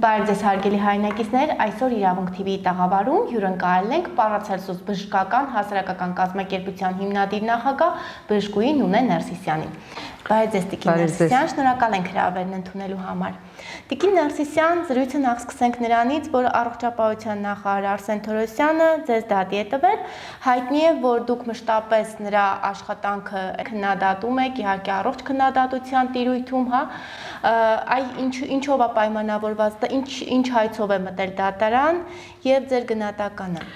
Բարև ձեզ հարգելի հայրենակիցներ, այսօր Իրավունք TV-ի տաղավարում հյուրընկալել ենք Պարացելսուս բժշկական հասարակական կազմակերպության հիմնադիր նախագահ բժշկուհի Նունե Ներսիսյանին։ Բարև ձեզ Տիկին Ներսիսյան, շնորհակալ ենք հրավերն ընդունելու համար։ Տիկին Ներսիսյան, զրույցը նախ սկսենք նրանից, որ առողջապահության նախարար Արսեն Թորոսյանը ձեզ դատի է տվել, հայտնի է, որ դուք մշտապես նրա աշխատանքը քննադատում եք, իհարկե առողջ քննադատության տիրույթում, հա, ինչով է պայմանավորված, ինչ հայցով է մտել դատարան եւ ձեր գնահատականը։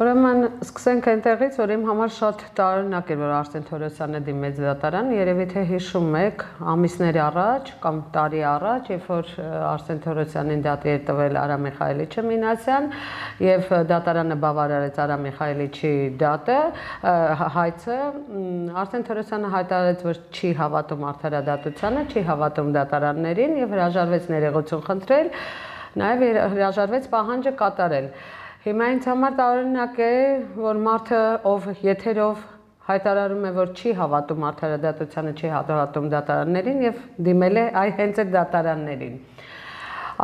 Ուրեմն սկսենք այնտեղից, որ իմ համար շատ տարօրինակ էր, որ Արսեն Թորոսյանը դիմեց դատարան, երևի թե հիշում եք, ամիսներ առաջ կամ տարի առաջ, երբ որ Արսեն Թորոսյանին դատի էր տվել Արա Միխայելիչը Մինասյան, եւ դատարանը բավարարեց Արա Միխայելիչի դատը, հայցը, Արսեն Թորոսյանը հայտարարեց, որ չի հավատում արդարադատությանը, չի հավատում դատարաններին եւ հրաժարվեց ներողություն խնդրել, նաեւ հրաժարվեց պահանջը կատարել։ Հիմա ինձ համար տարօրինակ է, որ մարդը, ով եթերով հայտարարում է, որ չի հավատում արդարադատությանը, չի հավատում դատարաններին եւ դիմել է հենց այդ դատարաններին։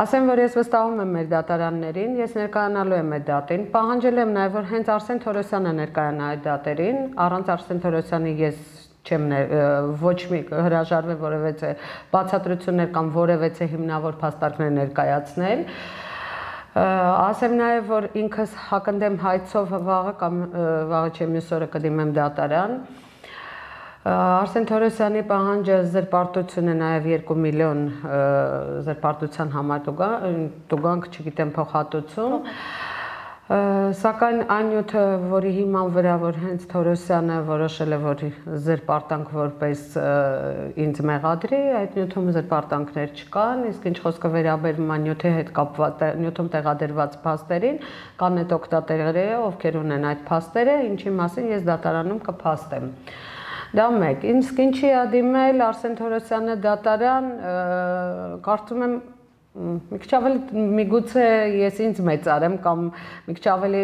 Ասեմ, որ ես վստահում եմ մեր դատարաններին, ես ներկայանալու եմ այդ դատին, պահանջել եմ նաեւ, որ հենց Արսեն Թորոսյանը ներկայանա այդ դատերին, առանց Արսեն Թորոսյանի ես չեմ ոչ մի հրաժարվել որևէ բացատրություններ կամ որևէ հիմնավոր փաստարկներ ներկայացնել։ Ասեմ նաև, որ ինքս հակընդեմ հայցով վաղը կամ վաղը չէ մյուս օրը կդիմեմ դատարան։ Արսեն Թորոսյանի պահանջը զրպարտություն է նաև 2 միլիոն զրպարտության համար տուգանք, չգիտեմ, փոխհատուցում։ Սակայն այն նյութը, որի հիման վրա, որ հենց Թորոսյանը որոշել է, որ զրպարտանք որպես ինձ մեղադրի, այդ նյութում զրպարտանքներ չկան, իսկ ինչ խոսքը վերաբերում է նյութի հետ կապված, նյութում տեղադրված փաստերին, կան այդ օգտատերերը, ովքեր ունեն այդ փաստերը, ինչի մասին ես դատարանում կփաստեմ։ Դա մեկ, իսկ ինչի է դիմել Արսեն Թորոսյանը դատարան, կարծում եմ մի քիչ ավելի միգուցե ես ինձ մեծարեմ կամ մի քիչ ավելի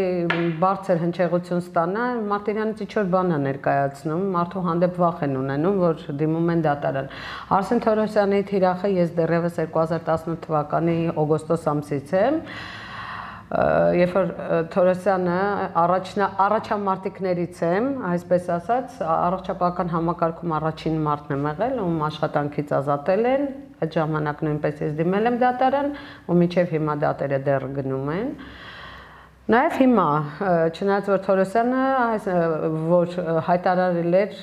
բարձր հնչեղություն ստանա, Մարտիրյանից ինչ-որ բան է ներկայացնում, մարդու հանդեպ վախ են ունենում, որ դիմում են դատարան։ Արսեն Թորոսյանի թիրախը ես դեռևս 2018 թվականի օգոստոս ամսից եմ, երբ որ Թորոսյանը առաջամարտիկներից եմ, այսպես ասած, առողջապահական համակարգում առաջին մարտն եմ եղել, ում աշխատանքից ազատել են, այդ ժամանակ նույնպես ես դիմել եմ դատարան, ու մինչև հիմա դատերը դեռ գնում են։ Նաև հիմա, չնայած որ Թորոսյանը, որ հայտարարել էր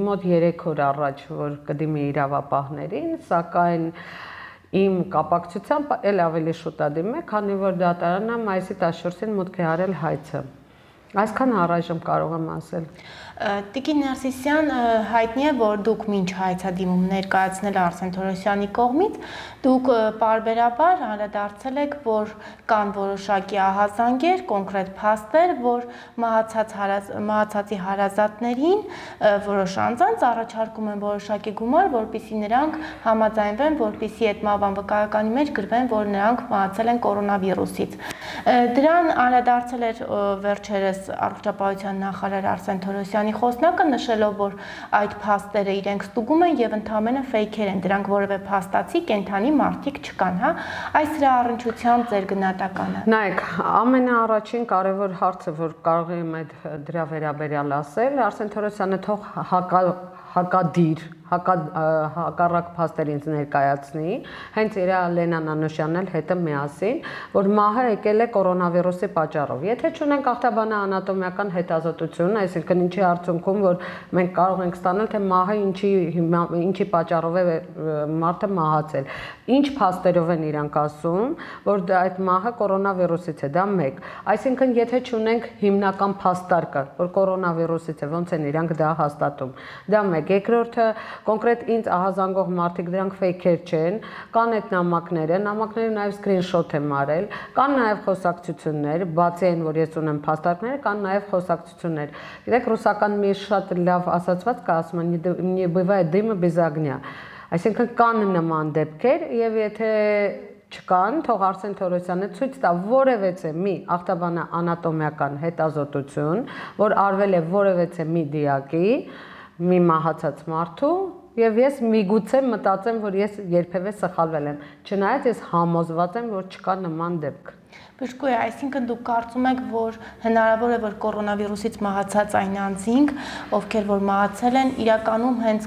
մոտ 3 օր առաջ, որ կդիմի իրավապահներին, սակայն իմ կապակցությամբ էլ ավելի շուտ է դիմել, քանի որ դատարանը մայիսի 14-ին մուտք է արել հայցը։ Այսքան առայժմ կարող եմ ասել։ Տիկին Ներսիսյան, հայտնի է, որ դուք մինչ հայցադիմում ներկայացնել Արսեն Թորոսյանի կողմից, դուք պարբերաբար անդրադարձել եք, որ կան որոշակի ահազանգեր, կոնկրետ փաստեր, որ մահացածի հարազատներին որոշ անձանց առաջարկում են որոշակի գումար, որպեսզի նրանք համաձայնվեն, որպեսզի այդ մահվան վկայականի մեջ գրվեն, որ նրանք մահացել են կորոնավիրուսից։ Դրան անդրադարձել էր վերջերս առողջապահության նախարար Արսեն Թորոսյանի խոսնակը, նշելով, որ այդ փաստերը իրենք ստուգում են եւ ընդհանրապես ֆեյքեր են, դրանք որևէ փաստացի կենթանի մարդիկ չկան, հա։ Այս դրա առնչությամբ ձեր գնահատականը։ Նայեք, ամենաառաջին կարևոր հարցը, որ կարող եմ դրա վերաբերյալ ասել, Արսեն Թորոսյանը թող հակադիր, հակառակ փաստեր ինձ ներկայացնի, հենց իր Լենան Անուշյանն էլ հետը միասին, որ մահը եկել է կորոնավիրուսի պատճառով։ Եթե չունենք ախտաբանանատոմիական հետազոտություն, այսինքն ինչի արդյունքում, որ մենք կարող ենք ստանալ, թե մահը ինչի պատճառով է մարդը մահացել։ Ինչ փաստերով են իրանք ասում, որ այդ մահը կորոնավիրուսից է, դա մեկ։ Այսինքն եթե չունենք հիմնական փաստարկը, որ կորոնավիրուսից է, ոնց են իրանք դա հաստատում։ Դա մեկ։ Երկրորդը կոնկրետ ինձ ահազանգող մարդիկ դրանք ֆեյքեր չեն, կան այդ նամակները նաև սկրինշոթ եմ արել, կան նաև խոսակցություններ, բացի այն, որ ես ունեմ փաստարկներ, կան նաև խոսակցություններ։ Գիտեք, ռուսական մի շատ լավ ասացված կա, ասում են, «Не бывает дыма без огня», այսինքն կան նման դեպքեր եւ եթե չկան, թող Արսեն Թորոսյանը ցույց տա որևէ մի ախտաբանանատոմիական հետազոտություն, որ արվել է որևէ մի դիակի, մի մահացած մարդու եւ ես միգուցե մտածեմ, որ ես երբևէ սխալվել եմ, չնայած ես համոզված եմ, որ չկա նման դեպք։ Բժշկուհի, այսինքն դուք կարծում եք, որ հնարավոր է, որ կորոնավիրուսից մահացած այն անձինք, ովքեր որ մահացել են, իրականում հենց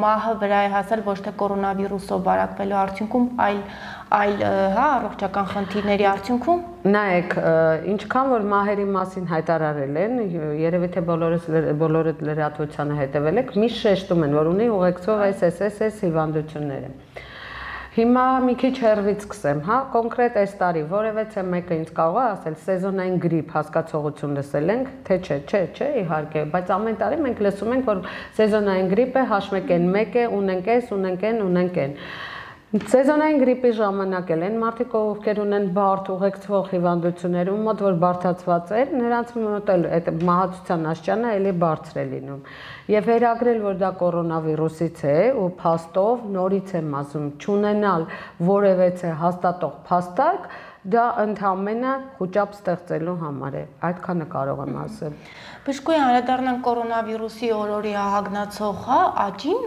մահը վրա է հասել ոչ թե կորոնավիրուսով վարակվելու արդյունքում, այլ առողջական խնդիրների արդյունքում։ Նայեք, ինչքան որ մահերի մասին հայտարարել են, երևի թե բոլորդ լրատվությանը հետևել եք, միշտ շեշտում են, որ ունի ուղեկցող այս հիվանդությունները։ Հիմա մի քիչ հեռվից սկսեմ, կոնկրետ այս տարի որևէ մեկը ինձ կարող է ասել սեզոնային գրիպ հասկացողություն լսել ենք, թե չէ, իհարկե, բայց ամեն տարի մենք լսում ենք, որ սեզոնային գրիպը H1N1 է, ունենք են։ Սեզոնային գրիպի ժամանակ են մարդիկ, ովքեր ունեն բարդ ուղեկցող հիվանդություններ, ում մոտ որ բարդացված է, նրանց մոտ այդ մահացության աստիճանը էլի բարձր է լինում։ Եվ վերագրել, որ դա կորոնավիրուսից է ու փաստով նորից եմ ասում, չունենալ որևէ հաստատող փաստարկ, դա ընդհանրապես խոճապ ստեղծելու համար է, այդքանը կարող եմ ասել։ Բժշկուհի, անդրադառնանք կորոնավիրուսի օրորի ահագնացող աճին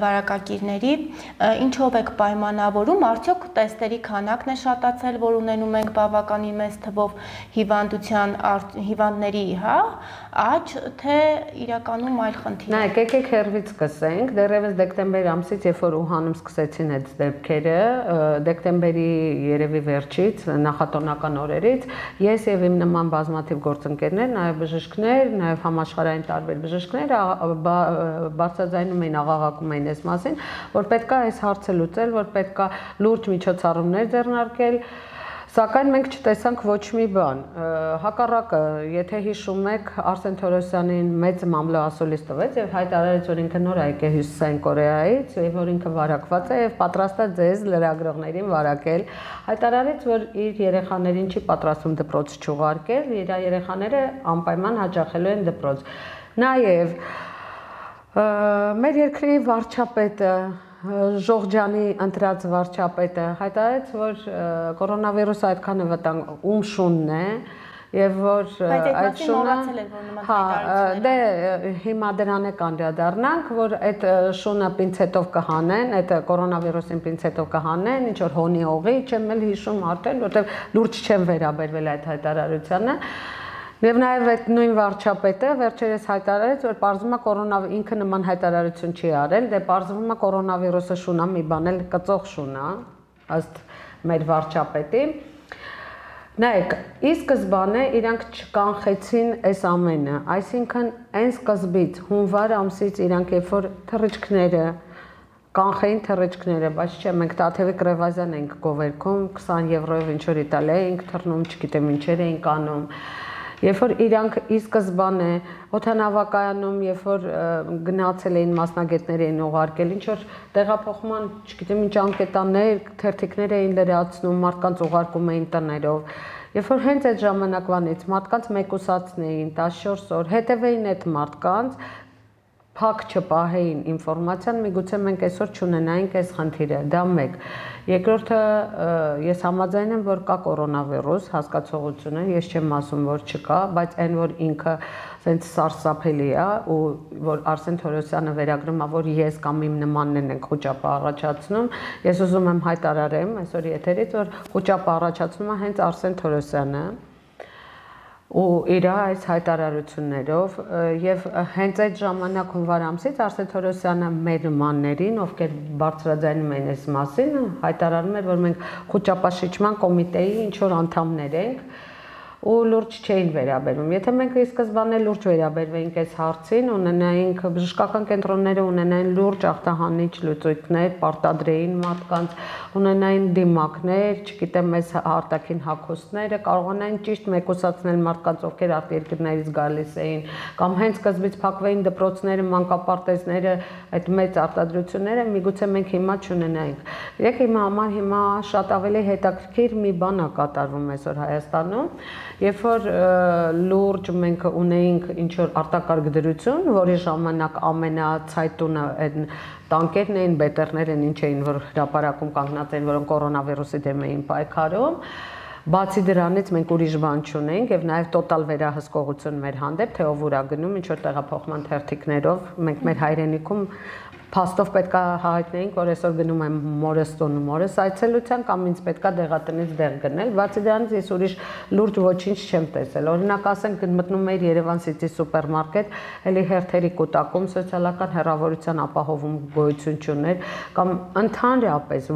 վարակագիրների, ինչով եք պայմանավորում, արդյոք տեստերի քանակն է շատացել, որ ունենում ենք բավականին մեծ թվով հիվանդների աճ, թե իրականում այլ խնդիր։ Նայեք, եկեք հեռվից սկսենք, դեռևս դեկտեմբեր ամսից, երբ որ Ուհանում սկսեցին այդ դեպքերը, դեկտեմբերի երևի վերջից, նախատոնական օրերից, ես եւ իմ նման բազմաթիվ գործընկերներ, նաեւ բժիշկներ, նաեւ համաշխարհային տարբեր բժիշկներ բարձրաձայնում էին, աղաղակում էին այս մասին, որ պետք է այս հարցը լուծել, որ պետք է լուրջ միջոցառումներ ձեռնարկել, սակայն մենք չտեսանք ոչ մի բան։ Հակառակը, եթե հիշում եք, Արսեն Թորոսյանին մեծ մամլոասուլիս տվեց եւ հայտարարեց, որ ինքը նոր եկել է Հյուսիսային Կորեայից եւ որ ինքը վարակված է եւ պատրաստ է ձեզ լրագրողներին վարակել։ Հայտարարեց, որ իր երեխաներին չի պատրաստում դպրոց չուղարկել, իր երեխաները անպայման հաճախելու են դպրոց։ Նաեւ մեր երկրի վարչապետը Ժողջյանի ընտրած վարչապետը հայտարարեց, որ կորոնավիրուսը այդքան է վտանգ շունն է եւ որ այդ շունը դե հիմա դրան է կանդրադառնանք, որ այդ շունը պինցետով կհանեն, այդ կորոնավիրուսին պինցետով կհանեն, ինչ որ հոնի օղի, չեմ էլ հիշում արդեն, որտեղ լուրջ չեմ վերաբերվել այդ հայտարարությանը։ Եվ նաև այդ նույն վարչապետը վերջերս հայտարարեց, որ պարզվում է ինքը նման հայտարարություն չի արել, դե պարզվում է կորոնավիրուսը շունա մի բան էլ կծող շունա, ըստ մեր վարչապետի։ Նայեք, ի սկզբանե իրանք չկանխեցին այս ամենը, այսինքն այն սկզբից հունվար ամսից իրանք երբ որ թռիչքները կանխեին թռիչքները, բայց չէ, մենք Տաթևիկ Ռևազյան ենք գովերքում, 20 եվրոյով ինչ որ Իտալիա էինք թռնում, չգիտեմ ինչեր էինք անում։ Երբ որ իրանք ի սկզբանե օդանավակայանում, երբ որ գնացել էին մասնագետներ էին ուղարկել, ինչ որ տեղափոխման, չգիտեմ ինչ անկետաններ, թերթիկներ էին լրացնում, մարդկանց ուղարկում էին տներով։ Երբ որ հենց այդ ժամանակվանից մարդկանց մեկուսացնեին 14 օր, հետևեին այդ մարդկանց, փակ չպահեին ինֆորմացիան, միգուցե մենք այսօր չունենայինք այս խնդիրը, դա մեկ։ Երկրորդը, ես համաձայն եմ, որ կա կորոնավիրուս, հասկացողությունը, ես չեմ ասում, որ չկա, բայց այն, որ ինքը սենց սարսափելի է, ու որ Արսեն Թորոսյանը վերագրում է, որ ես կամ իմ նմաններն ենք խոճապը առաջացնում, ես ուզում եմ հայտարարեմ այսօր եթերից, որ խոճապը առաջացնում է հենց Արսեն Թորոսյանը, ու իր այս հայտարարություններով եւ հենց այդ ժամանակ հունվար ամսից Արսեն Թորոսյանը մեր նմաններին, ովքեր բարձրաձայնում են այս մասին, հայտարարում էր, որ մենք խոճապաշիչման կոմիտեի ինչ որ անդամներ ենք ու լուրջ չէին վերաբերվում։ Եթե մենք ի սկզբանե լուրջ վերաբերվեինք այս հարցին, ունենայինք բժշկական կենտրոնները ունենային լուրջ ախտահանիչ լուծույթներ, պարտադրեին մարդկանց, ունենային դիմակներ, չգիտեմ, այս արտաքին հագուստները, կարողանային ճիշտ մեկուսացնել մարդկանց, ովքեր արտերկրներից գալիս էին, կամ հենց սկզբից փակվեին դպրոցները, մանկապարտեզները, այդ մեծ արտադրությունները, միգուցե մենք հիմա չունենայինք։ Եկեք իմ համար հիմա շատ ավելի հետաքրքիր մի բան է կատարվում այսօր Հայաստանում։ Երբ որ լուրջ մենք ունեինք ինչ-որ արտակարգ դրություն, որի ժամանակ ամենացայտունը այն տանկերն էին, բետերներ են, ինչ էին, որ հրապարակում կանգնած էին, որոնք կորոնավիրուսի դեմ էին պայքարում, Բացի դրանից մենք ուրիշ բան չունենք եւ նաեւ տոտալ վերահսկողություն մեր հանդեպ, թե ով ուրա գնում, ինչ որ տեղափոխման թերթիկներով, մենք մեր հայրենիքում փաստով պետքա հայտնեինք, որ այսօր գնում եմ մորս տուն ու մորս այցելության կամ ինձ պետքա դեղատնից դեղ գնել, բացի դրանից ես ուրիշ լուրջ ոչինչ չեմ տեսել։ Օրինակ ասենք մտնում էի Երևան City սուպերմարկետ, էլի հերթերի կուտակում սոցիալական հեռավորության ապահովում գոյություն չուներ, կամ ընդհանրապես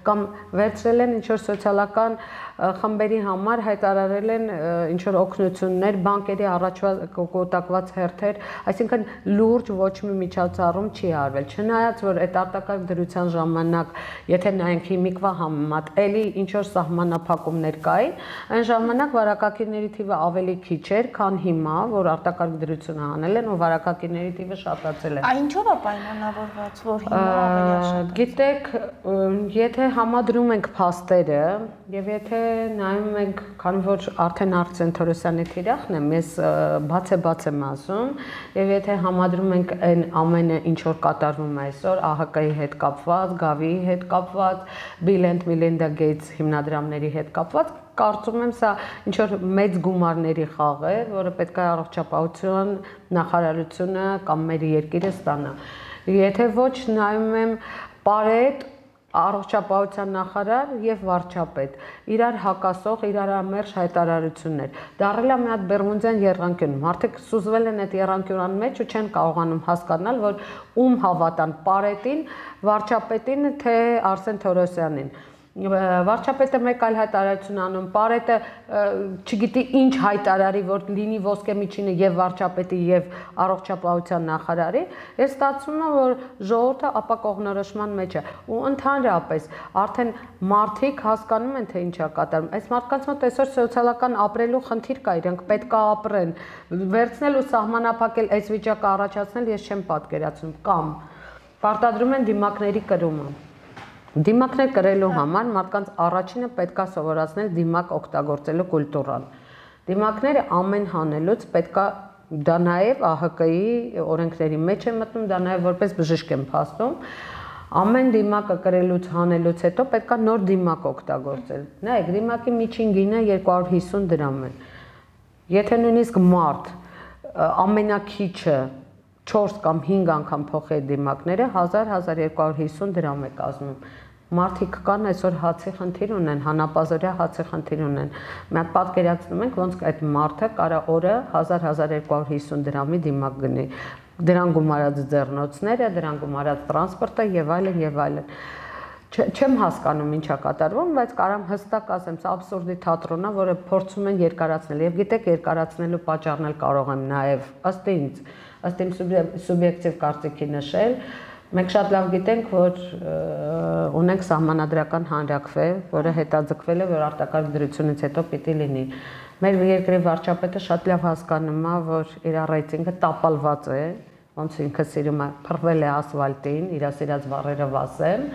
կամ վերցրել են ինչ որ սոցիալական խմբերի համար հայտարարել են ինչ որ օգնություններ, բանկերի առաջվա կուտակված հերթեր, այսինքն լուրջ ոչ մի միջոցառում չի արվել։ Չնայած որ այդ արտակարգ դրության ժամանակ, եթե նայենք հիմիկվա համեմատ, էլի ինչ որ սահմանափակումներ կային, այն ժամանակ վարակակիրների թիվը ավելի քիչ էր, քան հիմա, որ արտակարգ դրությունը անել են ու վարակակիրների թիվը շատացել է։ Ինչով է պայմանավորված, որ հիմա ավելի շատ։ Գիտեք, եթե համադրում ենք փաստերը եւ եթե նայում ենք, քանի որ արդեն Արսեն Թորոսյանի թիրախն եմ, ես բաց եմ ասում, եւ եթե համադրում ենք այն ամենը, ինչ որ կատարվում է այսօր, ԱՀԿ-ի հետ կապված, Գավիի հետ կապված, Bill and Melinda Gates հիմնադրամների հետ կապված, կարծում եմ սա ինչ որ մեծ գումարների խաղ է, որը պետք է առողջապահության նախարարությունը կամ մեր երկիրը ստանա։ Եթե ոչ նայում եմ Պարետ, առողջապահության նախարար եւ վարչապետ իրար հակասող, իրար ամերժ հայտարարություններ։ Դառել է մի հատ Բերմուդյան եռանկյուն։ Մարդիկ սուզվել են այդ եռանկյունան մեջ ու չեն կարողանում հասկանալ, որ ում հավատան՝ Պարետին, վարչապետին, թե Արսեն Թորոսյանին։ Վարչապետը մեկ այլ հայտարարություն անում, Պարետը չգիտի ինչ հայտարարի, որ լինի ոսկե միջինը եւ վարչապետի եւ առողջապահության նախարարի, ես ստացվում է, որ ժողովուրդը ապակողնորոշման մեջ է ու ընդհանրապես արդեն մարդիկ հասկանում են, թե ինչ է կատարվում։ Այս մարդկանց մոտ այսօր սոցիալական ապրելու խնդիր կա, իրենք պետք է ապրեն, վերցնել ու սահմանափակել այս վիճակը առաջացնել ես չեմ պատկերացնում, կամ պարտադրում են դիմակների կրումը։ Դիմակներ կրելու համար մարդկանց առաջինը պետք է սովորացնել դիմակ օգտագործելու կուլտուրան։ Դիմակները ամեն հանելուց պետք է դա նաև ԱՀԿ-ի օրենքների մեջ է մտնում, դա նաև որպես բժիշկ եմ փաստում, ամեն դիմակը կրելուց հանելուց հետո պետք է նոր դիմակ օգտագործել։ Նայեք, դիմակի միջին գինը 250 դրամ է։ Եթե նույնիսկ մարդ ամենակիչը 4 կամ 5 անգամ փոխի դիմակները 1000-1250 դրամ է կազմում։ Մարդիկ կան այսօր հացի խնդիր ունեն, հանապազորյա հացի խնդիր ունեն։ Մենք պատկերացնում ենք, ոնց այդ մարդը կարա օրը 1000-1250 դրամի դիմակ գնի։ Դրան գումարած ձեռնոցները, դրան գումարած տրանսպորտը եւ այլն եւ այլն։ Չեմ հասկանում ինչ է կատարվում, բայց կարամ հստակ ասեմ, սա աբսուրդի թատրոն է, որը փորձում են երկարացնել եւ գիտեք, երկարացնելու պատճառն էլ կարող եմ նաեւ ըստ ինձ, ըստ իմ սուբյեկտիվ կարծիքի նշել, մենք շատ լավ գիտենք, որ ունենք սահմանադրական հանրաքվե, որը հետաձգվել է, որ արտակարգ դրությունից հետո պիտի լինի։ Մեր երկրի վարչապետը շատ լավ հասկանում է, որ իր ռեյտինգը տապալված է, ոնց ինքը սիրում է, փռվել է ասֆալտին, իր սիրած բառերը վասեմ,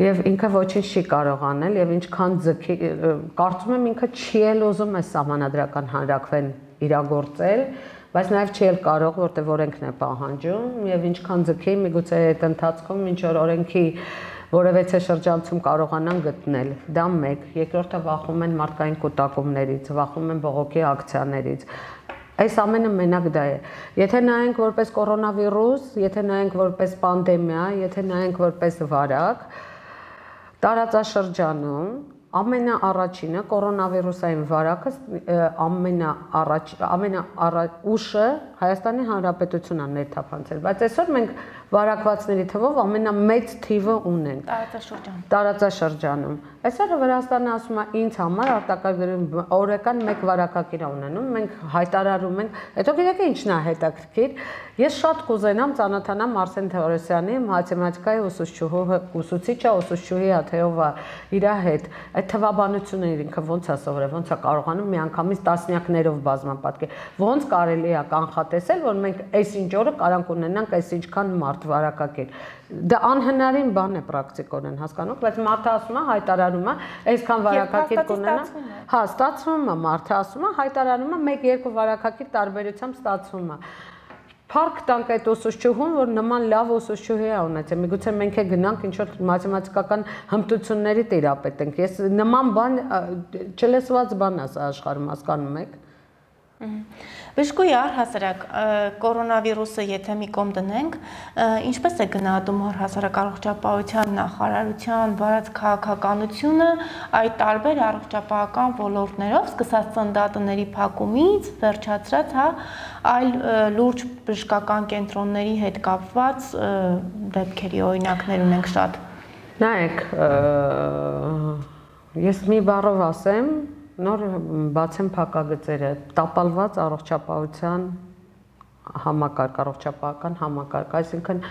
եւ ինքը ոչինչ չի կարող անել եւ ինչքան ձգի, կարծում եմ ինքը չի էլ ուզում է սահմանադրական հանրաքվեն իրագործել, բայց նաև չի էլ կարող, որտեղ օրենքն է պահանջում եւ ինչքան ձգի, միգուցե այդ ընթացքում ինչ որ օրենքի որևէ շրջանցում կարողանան գտնել։ Դա մեկ, երկրորդը վախում են մարդկային կուտակումներից, վախում են բողոքի ակցիաներից։ Այս ամենը մենակ դա է։ Եթե նայենք որպես կորոնավիրուս, եթե նայենք որպես պանդեմիա, եթե նայենք որպես վարակ, տարածաշրջանում ամենաառաջինը կորոնավիրուսային վարակը ուշը Հայաստանի Հանրապետությունն է ներթափանցել, բայց այսօր մենք վարակվածների թվով ամենամեծ թիվը ունենք տարածաշրջանում։ Այսօր Վրաստանը ասում է ինձ համար արտակարգ օրական 1 վարակակիր ունենում, մենք հայտարարում ենք, հետո գիտեք ինչն է հետաքրքիր, ես շատ կուզենամ ծանոթանամ Արսեն Թորոսյանի մաթեմատիկայի ուսուցիչը, ուսուցչուհի Աթեովա իր հետ, այդ թվաբանությունը ինքը ոնց է սովորել, ոնց է կարողանում միանգամից տասնյակներով բազմապատկել, ոնց կարելի է կանխատեսել, որ մենք այսինչ օրը կարանք ունենանք այսինչքան մարդ վարակակիր։ Դա անհնարին բան է պրակտիկորեն, հասկանոք, բայց մարդը ասում է, հայտարարում է, այսքան վարակակիր կունենա։ Հա, ստացվում է, մարդը ասում է, հայտարարում է 1-2 վարակակիր տարբերությամբ ստացվում է։ Փառք տանք այդ ուսուցչուհուն, որ նման լավ ուսուցչուհի է ունեցել։ Միգուցե մենք է գնանք ինչ որ մաթեմատիկական հմտությունների տիրապետենք։ Ես նման բան չլսված բան է սա աշխարհում, հասկանում եք։ Բժշկուհի առհասարակ կորոնավիրուսը եթե մի կողմ դնենք, ինչպես է գնահատում առհասարակ առողջապահության նախարարության վարած քաղաքականությունը այդ տարբեր առողջապահական ոլորտներով, սկսած ծննդատների փակումից, վերջացրած այլ լուրջ բժշկական կենտրոնների հետ կապված դեպքերի օրինակներ ունենք շատ։ Նայեք, ես մի բառով ասեմ, նոր բացեմ փակագծերը, տապալված առողջապահության համակարգ, առողջապահական համակարգ, այսինքն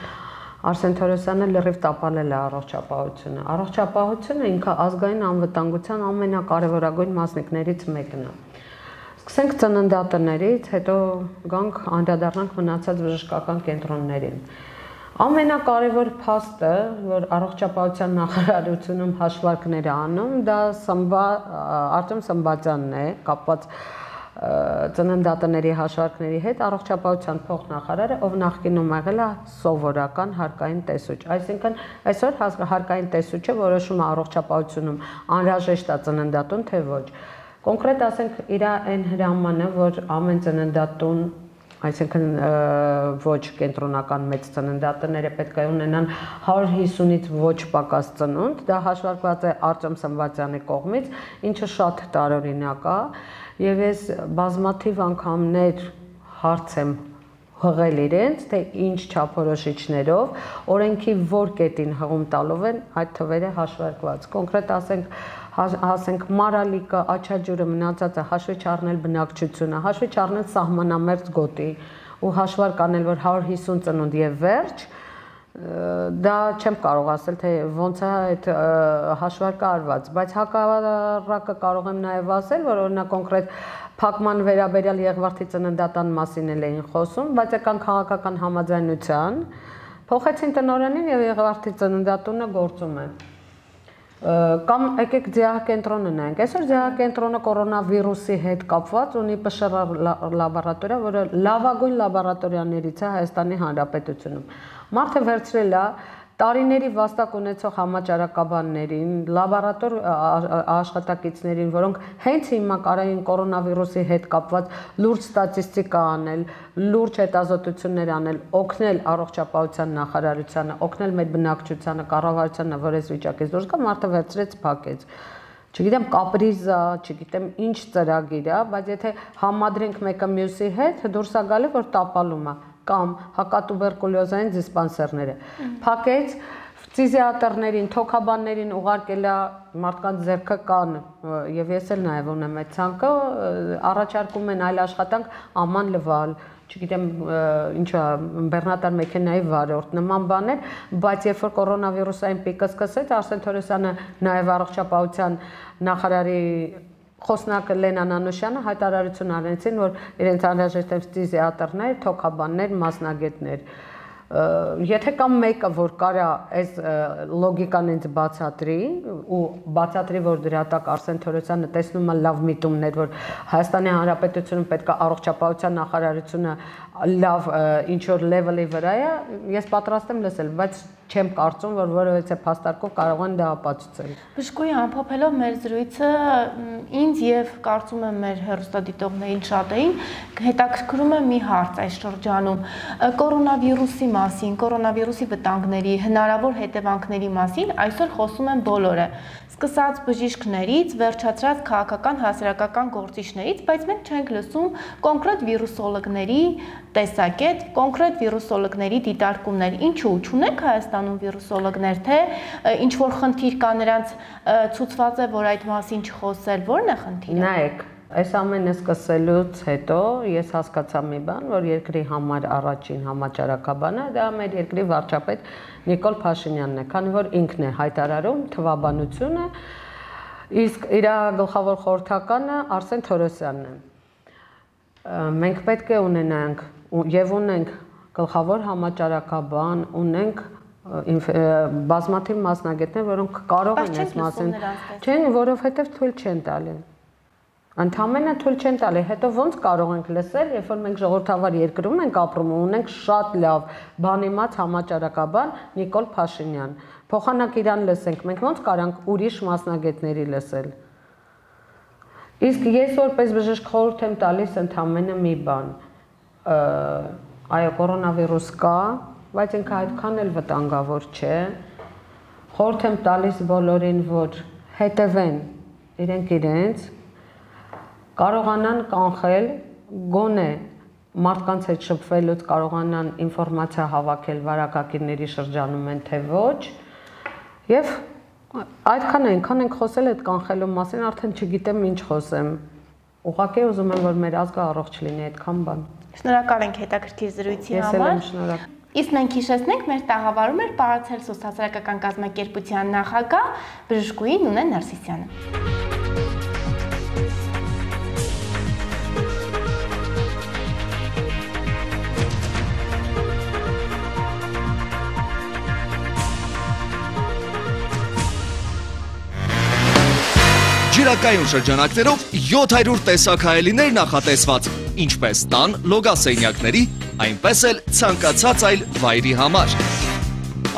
Արսեն Թորոսյանը լրիվ տապալել է առողջապահությունը։ Առողջապահությունը ինքը ազգային անվտանգության ամենակարևորագույն մասնիկներից մեկն է։ Սկսենք ծննդատներից, հետո գանք անդրադառնանք մնացած բժշկական կենտրոններին։ Ամենակարևոր փաստը, որ առողջապահության նախարարությունում հաշվարկներ է անում, դա Արտեմ Սմբատյանն է, կապված ծննդատների հաշվարկների հետ, առողջապահության փոխնախարարը, ով նախկինում եղել է սովորական հարկային տեսուչ։ Այսինքն այսօր հարկային տեսուչը որոշում է առողջապահությունում անհրաժեշտ է ծննդատուն, թե ոչ։ Կոնկրետ ասենք իր այն հրամանը, որ ամեն ծննդատուն այսինքն ոչ կենտրոնական մեծ ծննդատները պետք է ունենան 150-ից ոչ պակաս ծնունդ, դա հաշվարկված է Արտեմ Սմբատյանի կողմից, ինչը շատ տարօրինակ է, եւ ես բազմաթիվ անգամներ հարց եմ հղել իրենց, թե ինչ չափորոշիչներով, օրենքի որ կետին հղում տալով են այդ թվերը հաշվարկված։ Կոնկրետ ասենք մարալիկը, աչաջուրը մնացածը հաշվի չառնել բնակչությունը, հաշվի չառնել սահմանամերձ գոտի ու հաշվարկ անել, որ 150 ծնունդ եւ վերջ, դա չեմ կարող ասել, թե ոնց է այդ հաշվարկը արված, բայց հակառակը կարող եմ նաեւ ասել, որ օրինակ կոնկրետ փակման վերաբերյալ Եղվարդի ծննդատան մասին էին խոսում, բայց եկան քաղաքական համաձայնության, փոխեցին տնօրենին եւ Եղվարդի ծննդատունը գործում է։ Կամ եկեք ձիահակենտրոնը նայենք։ Այսօր ձիահակենտրոնը կորոնավիրուսի հետ կապված ունի ՊՇՌ լաբորատորիա, որը լավագույն լաբորատորիաներից է Հայաստանի Հանրապետությունում։ Մարդը վերցրել է տարիների վաստակ ունեցող համաճարակաբաններին, լաբորատոր աշխատակիցներին, որոնք հենց հիմա կարային կորոնավիրուսի հետ կապված լուրջ ստատիստիկա անել, լուրջ հետազոտություններ անել, օգնել առողջապահության նախարարությանը, օգնել մեր բնակչությանը, կառավարությանը, որ այս վիճակից դուրս գա, մարդը վերցրեց փակեց։ Չգիտեմ կապրիզա, չգիտեմ ինչ ծրագիր է, բայց եթե համադրենք մեկը մյուսի հետ, դուրս է գալի, որ տապալում է կամ հակատուբերկուլյոզային դիսպանսերները։ Փակեց ֆիզիատրներին, թոքաբաններին ուղարկել է մարդկանց ձեռքը կան եւ ես էլ նաեւ ունեմ այդ ցանկը, առաջարկում են այլ աշխատանք աման լվալ, չգիտեմ ինչա բեռնատար մեքենայի վարորդ նման բաներ, բայց երբ որ կորոնավիրուսային պիկը սկսեց, Արսեն Թորոսյանը նաեւ առողջապահության նախարարի խոսնակը Լենան Անուշյանը հայտարարություն արեցին, որ իրենց անհրաժեշտ են ֆիզիատրներ, թոքաբաններ, մասնագետներ։ Եթե կամ մեկը, որ կարա այս լոգիկան ինձ բացատրի ու բացատրի, որ դրա տակ Արսեն Թորոսյանը տեսնում է լավ միտումներ, որ Հայաստանի Հանրապետությունում պետք է առողջապահության նախարարությունը լավ ինչ որ լեվելի վրա է, ես պատրաստ եմ լսել, բայց չեմ կարծում, որ որևէ փաստարկով կարող են դա ապացուցել։ Բժշկուհի ամփոփելով մեր զրույցը, ինձ եւ կարծում եմ մեր հեռուստադիտողներին շատերին հետաքրքրում է մի հարց այս շրջանում։ Կորոնավիրուսի մասին, կորոնավիրուսի վտանգների, հնարավոր հետևանքների մասին այսօր խոսում են բոլորը, սկսած բժիշկներից, վերջացրած քաղաքական հասարակական գործիչներից, բայց մենք չենք լսում կոնկրետ վիրուսոլոգների տեսակետ, կոնկրետ վիրուսոլոգների դիտարկումներ։ Ինչու՞ չունենք Հայաստանում վիրուսոլոգներ, թե ինչ որ խնդիր կա նրանց ցուցված է, որ այդ մասին չխոսել, ո՞րն է խնդիրը։ Նայեք, այս ամենը սկսելուց հետո ես հասկացա մի բան, որ երկրի համար առաջին համաճարակաբանը դա մեր երկրի վարչապետ Նիկոլ Փաշինյանն է, քանի որ ինքն է հայտարարում թվաբանությունը, իսկ իր գլխավոր խորհրդականը Արսեն Թորոսյանն է։ Մենք պետք է ունենանք եւ ունենք գլխավոր համաճարակաբան, ունենք բազմաթիվ մասնագետներ, որոնք կարող են այս մասին, չեն, որովհետեւ թույլ չեն տալի։ Ընդամենը թույլ չեն տալի, հետո ոնց կարող ենք լսել, երբ որ մենք ժողովրդավար երկրում ենք ապրում ու ունենք շատ լավ բանիմաց համաճարակաբան Նիկոլ Փաշինյան։ Փոխանակ իրան լսենք, մենք ոնց կարանք ուրիշ մասնագետների լսել։ Իսկ ես որպես բժիշկ խորհուրդ եմ տալիս ընդամենը մի բան։ Այո, կորոնավիրուս կա, բայց ինքը այդքան էլ վտանգավոր չէ։ Խորհուրդ եմ տալիս բոլորին, որ հետևեն իրենց կարողանան կանխել, գոնե մարդկանց հետ շփվելուց կարողանան ինֆորմացիա հավաքել վարակակիրների շրջանում են թե ոչ, եւ այդքան ենք խոսել այդ կանխելու մասին, արդեն չգիտեմ ինչ խոսեմ։ Ուղղակի ուզում եմ, որ մեր ազգը առողջ լինի, այդքան բան։ Շնորհակալ ենք հետաքրքիր զրույցի համար։ Ես էլ եմ շնորհակալ։ Իսկ մենք հիշեցնենք, մեր տաղավարում էր Պարացելսուս հասարակական կազմակերպության նախագահ բժշկուհի Նունե Նարսիսյանը։ Ջրակայուն շրջանակներով 700 տեսակ հայելիներ նախատեսված, ինչպես տան լոգասենյակների, այնպես էլ ցանկացած այլ վայրի համար։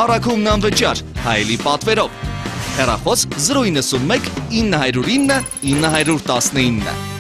Առաքումն անվճար, հայելի պատվերով։ Հեռախոս 091 909 919։